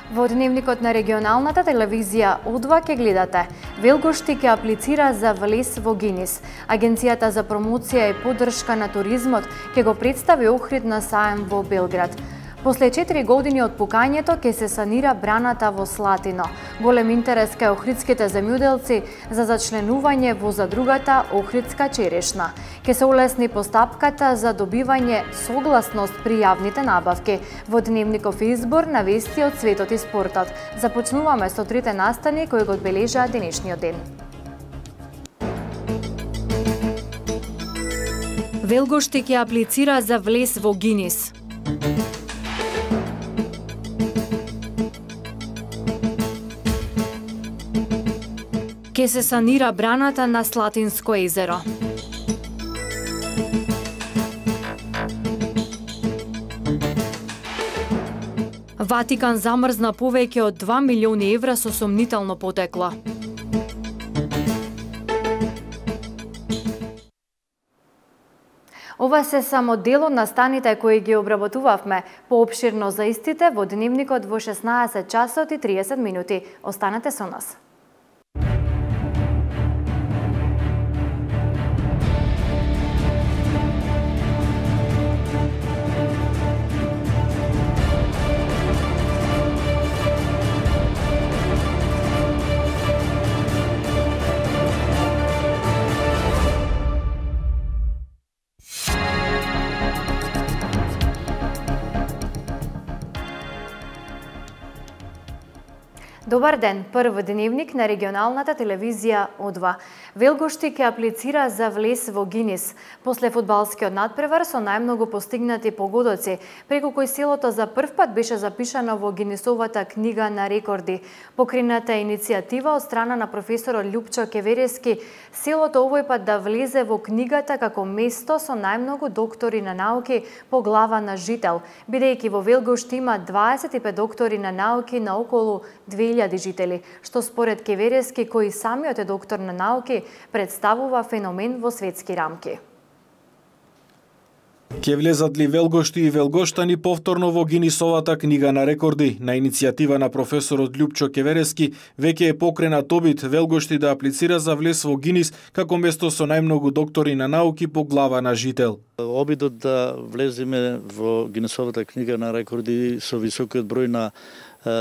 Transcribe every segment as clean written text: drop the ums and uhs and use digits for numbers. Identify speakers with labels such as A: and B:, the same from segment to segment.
A: Во дневникот на регионалната телевизија О2 ќе гледате: Велгошти ќе аплицира за влез во Гинис. Агенцијата за промоција и поддршка на туризмот ќе го представи Охрид на саем во Белград. После 4 години од пукањето ќе се санира браната во Слатино. Голем интерес кај охридските земјоделци за зачленување во задругата Охридска черешна. Ќе се улесни постапката за добивање согласност при јавните набавки. Во дневников избор на вести од светот и спортот. Започнуваме со трите настани кои го одбележаа денешниот ден. Велгошти ќе аплицира за влез во Гинис. Ке се санира браната на Слатинско езеро. Ватикан замрзна повеќе од 2 милиони евра со сомнително потекло. Ова се само дел од настаните кои ги обработувавме. Поопширно за истите во дневникот во 16 часот и 30 минути. Останете со нас. Добар ден, прв дневник на регионалната телевизија О2. Велгошти ќе аплицира за влез во Гинис. После фудбалскиот надпревар со најмногу постигнати погодоци, преку кој селото за прв пат беше запишано во Гинисовата книга на рекорди. Покрината иницијатива од страна на професорот Љупчо Кеверески, селото овој пат да влезе во книгата како место со најмногу доктори на науки по глава на жител, бидејќи во Велгошти има 25 доктори на науки на околу 2000 жители, што според Кеверески, кој самиот е доктор на науки, представува феномен во светски рамки.
B: Ке влезат ли Велгошти и велгоштани повторно во Гинисовата книга на рекорди? На иницијатива на професорот Љупчо Кеверески, веќе е покренат обид Велгошти да аплицира за влез во Гинис како место со најмногу доктори на науки по глава на жител.
C: Обидот да влеземе во Гинисовата книга на рекорди со високиот број на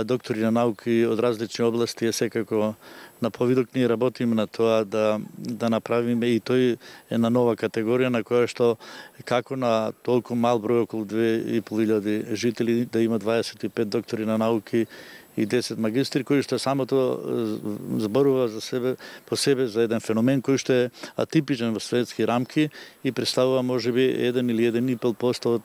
C: доктори на науки од различни области е секако на повидок. Ние работиме на тоа да направиме, и тој е на нова категорија на која што како на толку мал број, околу 2500 жители, да има 25 доктори на науки и 10 магистри, кои што самото зборува за себе по себе за еден феномен кој што е атипичен во светски рамки и представува можеби 1 или 1,5% од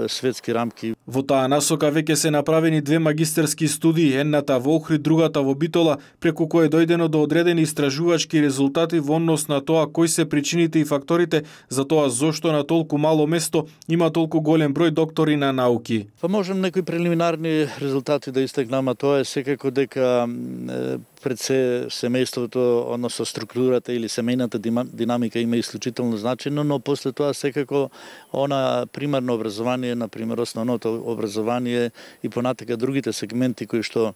C: светски рамки.
B: Во таа насока веќе се направени 2 магистерски студии, едната во Охрид, другата во Битола, преку кои е дојдено до одредени истражувачки резултати во однос на тоа кои се причините и факторите за тоа зошто на толку мало место има толку голем број доктори на науки.
C: Па можем некои прелиминарни резултати да истакнам, а тоа е секако дека пред се семејството, односно структурата или семејната динамика има исклучително значено, но после тоа секако она примарно образование, например основното образование и понатака другите сегменти кои што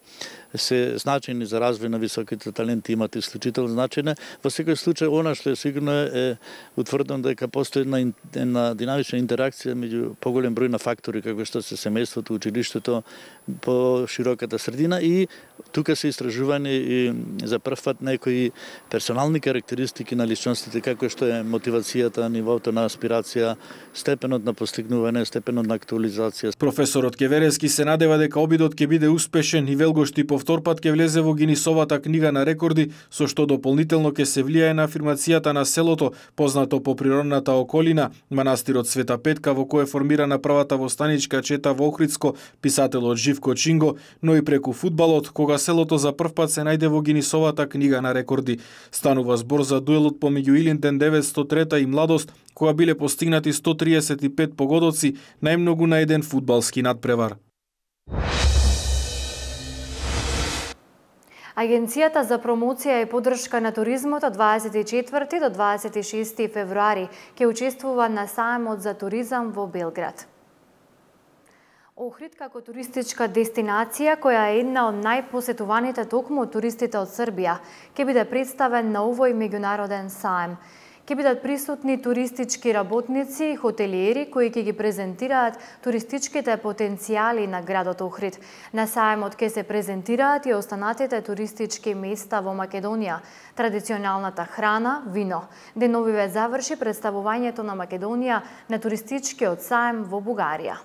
C: се значени за развој на високите таленти имат исклучително значење. Во секој случај она што е сигурно е утврдено дека постои една динамична интеракција меѓу поголем број на фактори како што се семејството, училиштето, по широката средина, и тука се истражување и за прв пат некои персонални карактеристики на личностите, како што е мотивацијата, нивото на аспирација, степенот на постигнување, степенот на актуализација.
B: Професорот Кеверески се надева дека обидот ќе биде успешен и Велгошти повтор пат ќе влезе во Гинисовата книга на рекорди, со што дополнително ќе се влијае на афирмацијата на селото, познато по природната околина, манастирот Света Петка, во кој е формирана првата востаничка чета во Охридско, писателот Живко Чинго, но и преку фудбалот, кога селото за прв пат се најде во Гинисовата книга на рекорди. Станува збор за дуелот помеѓу Илинден 903 и Младост, кога биле постигнати 135 погодоци, најмногу на еден фудбалски надпревар.
A: Агенцијата за промоција и поддршка на туризмот од 24 до 26 февруари ќе учествува на саемот за туризам во Белград. Охрид како туристичка дестинација, која е една од најпосетуваните токму од туристите од Србија, ќе биде представен на овој меѓународен саем. Ќе бидат присутни туристички работници и хотелиери кои ќе ги презентираат туристичките потенцијали на градот Охрид. На саемот ќе се презентираат и останатите туристички места во Македонија, традиционалната храна, вино. Деновиве заврши представувањето на Македонија на туристичкиот саем во Бугарија.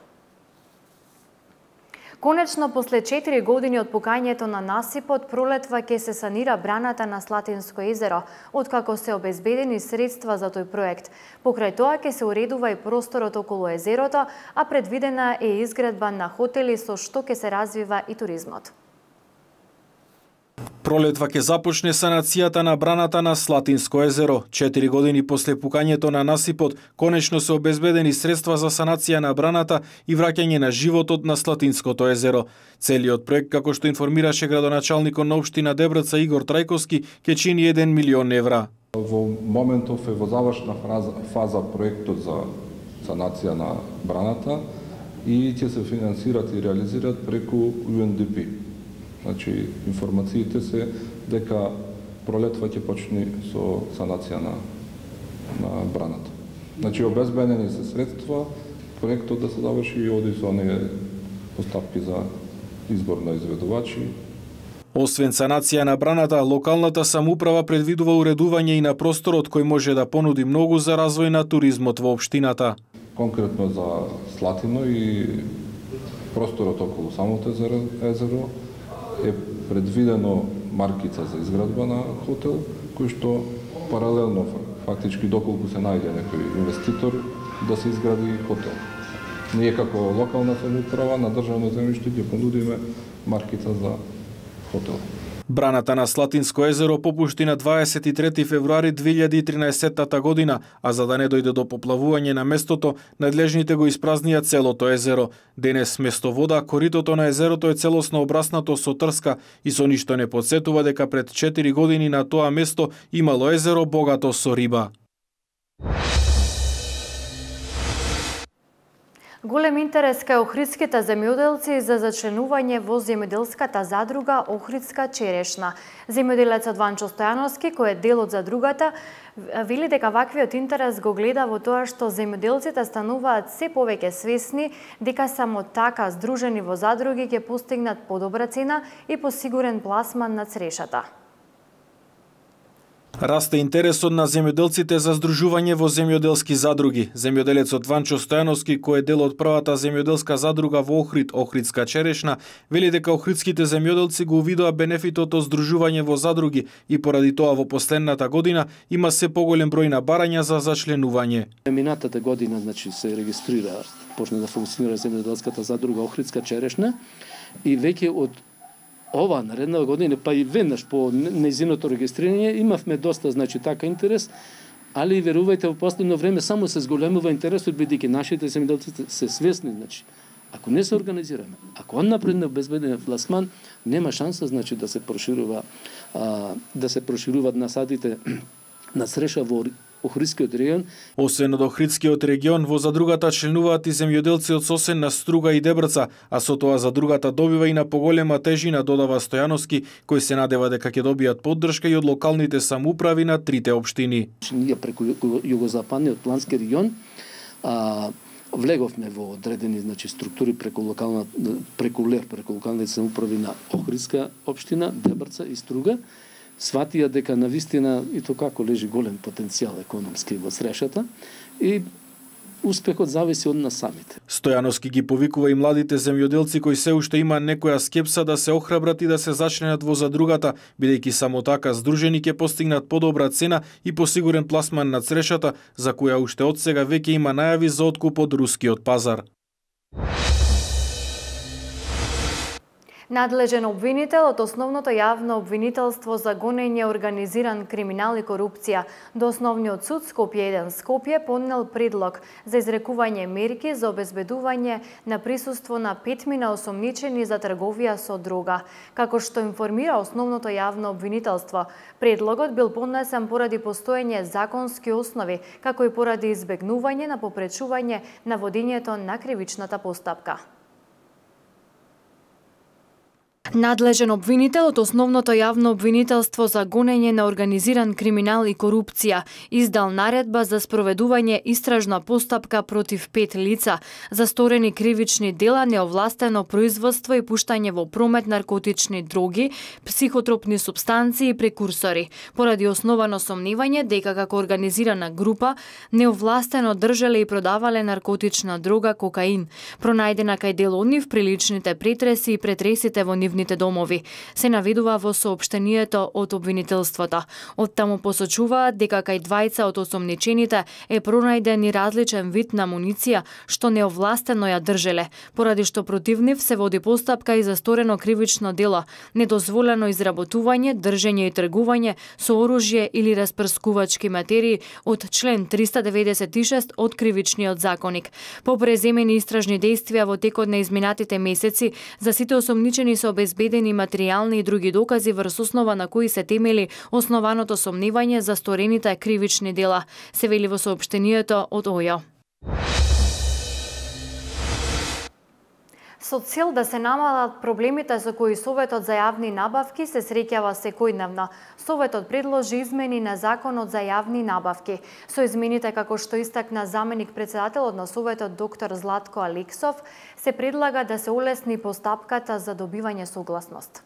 A: Конечно, после 4 години од пукањето на насипот, пролетва ќе се санира браната на Слатинско езеро, откако се обезбедени средства за тој проект. Покрај тоа ќе се уредува и просторот околу езерото, а предвидена е изградба на хотели со што ќе се развива и туризмот.
B: Пролетва ќе започне санацијата на браната на Слатинско езеро. 4 години после пукањето на насипот, конечно се обезбедени средства за санација на браната и враќање на животот на Слатинското езеро. Целиот проект, како што информираше градоначалникот на општина Дебрца Игор Трајковски, ќе чини 1 милион евра.
D: Во моментов е во завршна фаза проектот за санација на браната и ќе се финансират и реализират преку UNDP. Значи, информациите се дека пролетва ќе почне со санација на браната. Значи, обезбедени се средства, проектот да се заврши и оди со оние постапки за избор на изведувачи.
B: Освен санација на браната, локалната самоуправа предвидува уредување и на просторот кој може да понуди многу за развој на туризмот во општината.
D: Конкретно за Слатино и просторот околу самото езеро е предвидено маркица за изградба на хотел, кој што паралелно, фактички доколку се најде некој инвеститор, да се изгради хотел. Ние како локална самоуправа на државно земјиште ќе понудиме маркица за хотел.
B: Браната на Слатинско езеро попушти на 23 февруари 2013 година, а за да не дојде до поплавување на местото, надлежните го испразнија целото езеро. Денес место вода, коритото на езерото е целосно обраснато со трска и со ништо не потсетува дека пред 4 години на тоа место имало езеро богато со риба.
A: Голем интерес кај охридските земјоделци за зачленување во земјоделската задруга Охридска черешна. Земјоделецот Ванчо Стојановски, кој е дел од задругата, вели дека ваквиот интерес го гледа во тоа што земјоделците стануваат се повеќе свесни дека само така здружени во задруги ќе постигнат подобра цена и посигурен пласман на црешата.
B: Расте интересот на земјоделците за здружување во земјоделски задруги. Земјоделецот Ванчо Стојановски, кој е дел од првата земјоделска задруга во Охрид, Охридска черешна, вели дека охридските земјоделци го увидоа бенефитот од здружување во задруги и поради тоа во последната година има се поголем број на барања за зачленување.
E: Минатата година, значи, се регистрира, почна да функционира земјоделската задруга Охридска черешна и веќе од ова наредна година, па и веднаш по нејзиното регистрирање, имавме доста, значи, така интерес, али верувајте, во последно време само се зголемува интересот, бидејќи нашите земјоделци се свесни, значи, ако не се организираме, ако он напред не обезбеден пласман, нема шанса, значи, да се прошируваат насадите на цреша во Охридскиот регион.
B: Освен од Охридскиот регион, во задругата членуваат и земјоделци од Сосен на Струга и Дебрца, а со тоа задругата добива и на поголема тежина, додава Стојановски, кој се надева дека ќе добијат поддршка и од локалните самоуправи на трите општини.
E: Ние преку југозападниот плански регион влеговме во одредени, значи, структури преку локалните самоуправи на Охридска општина, Дебрца и Струга. Сватија дека навистина и то како лежи голем потенцијал економски во црешата и успехот зависи од нас самите.
B: Стојановски ги повикува и младите земјоделци кои се уште има некоја скепса да се охрабрат и да се зачленат во задругата, бидејќи само така здружени ќе постигнат подобра цена и посигурен пласман на црешата, за која уште од сега веќе има најави за откуп од рускиот пазар.
A: Надлежен обвинител од Основното јавно обвинителство за гонење, организиран криминал и корупција до Основниот суд Скопје 1 Скопје поднел предлог за изрекување мерки за обезбедување на присуство на 5 осомничени за трговија со дрога. Како што информира Основното јавно обвинителство, предлогот бил поднесен поради постоење законски основи, како и поради избегнување на попречување на водењето на кривичната постапка. Надлежен обвинител од Основното јавно обвинителство за гонење на организиран криминал и корупција издал наредба за спроведување истражна постапка против 5 лица за сторени кривични дела, неовластено производство и пуштање во промет наркотични дроги, психотропни супстанции и прекурсори, поради основано сомневање дека како организирана група неовластено држале и продавале наркотична дрога кокаин, пронајдена кај дел од нив при личните претреси и претресите во нивните домови, се наведува во соопштението од обвинителството. Од таму посочуваат дека кај двајца од осомничените е пронајден и различен вид на амуниција што неовластено ја држеле, поради што против нив се води постапка и за сторено кривично дело, недозволено изработување, држење и тргување со оружје или распрскувачки материи од член 396 од Кривичниот законник. По преземени истражни действија во текот на изминатите месеци, за сите осомничени се обезбедени материјални и други докази врз основа на кои се темели основаното сомневање за сторените кривични дела, се вели во соопштението од ОЈО. Со цел да се намалат проблемите со кои Советот за јавни набавки се среќава секојдневно, Советот предложи измени на Законот за јавни набавки. Со измените, како што истакна заменик председателот на Советот доктор Златко Алексов, се предлага да се олесни постапката за добивање согласност.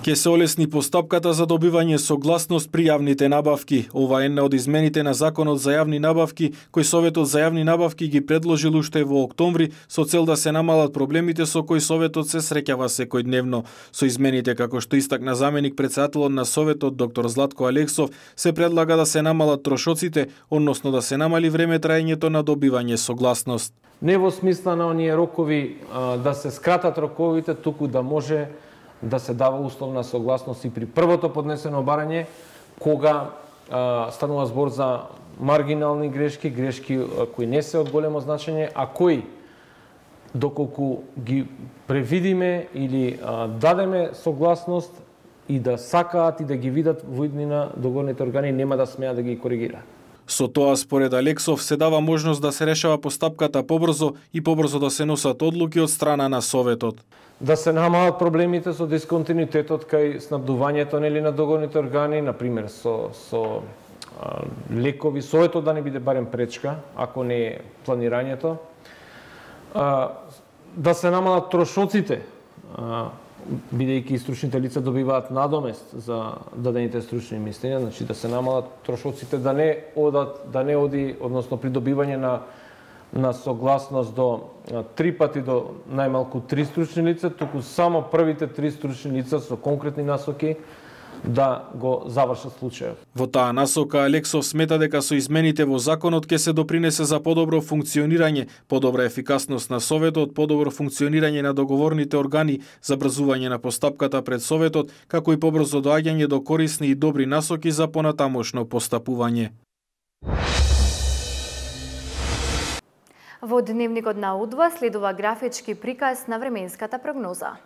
B: Ке се олесни постапката за добивање согласност при јавните набавки. Ова е една од измените на Законот за јавни набавки, кој Советот за јавни набавки ги предложил уште во октомври со цел да се намалат проблемите со кои Советот се среќава секојдневно. Со измените, како што истакна заменик председателот на Советот доктор Златко Алексов, се предлага да се намалат трошоците, односно да се намали време траењето на добивање согласност.
F: Не во смисла на оние рокови да се скратат роковите, туку да може да се дава условна согласност и при првото поднесено барање, кога станува збор за маргинални грешки, грешки кои не се од големо значење, а кои, доколку ги превидиме или дадеме согласност и да сакаат и да ги видат во иднина договорните органи, нема да смеат да ги коригираат.
B: Со тоа, според Алексов, се дава можност да се решава постапката побрзо и побрзо да се носат одлуки од страна на Советот.
F: Да се намалат проблемите со дисконтинуитетот кај снабдувањето на договорните органи, например со лекови, Советот да не биде барем пречка, ако не е планирањето. Да се намалат трошоците, бидејќи стручните лица добиваат надомест за дадените стручни мислења, значи да се намалат трошоците, да не оди, односно при добивање на согласност до 3 пати до најмалку 3 стручни лица, туку само првите 3 стручни лица со конкретни насоки да го завршат случајот.
B: Во таа насока Алексов смета дека со измените во законот ќе се допринесе за подобро функционирање, подобра ефикасност на Советот, подобро функционирање на договорните органи, забрзување на постапката пред Советот, како и побрзо доаѓање до корисни и добри насоки за понатамошно постапување.
A: Во дневникот на УДВА следува графички приказ на временската прогноза.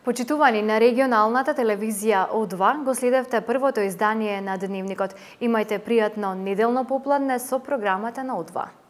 A: Почитувани на регионалната телевизија О2, го следевте првото издание на Дневникот. Имајте пријатно неделно попладне со програмата на О2.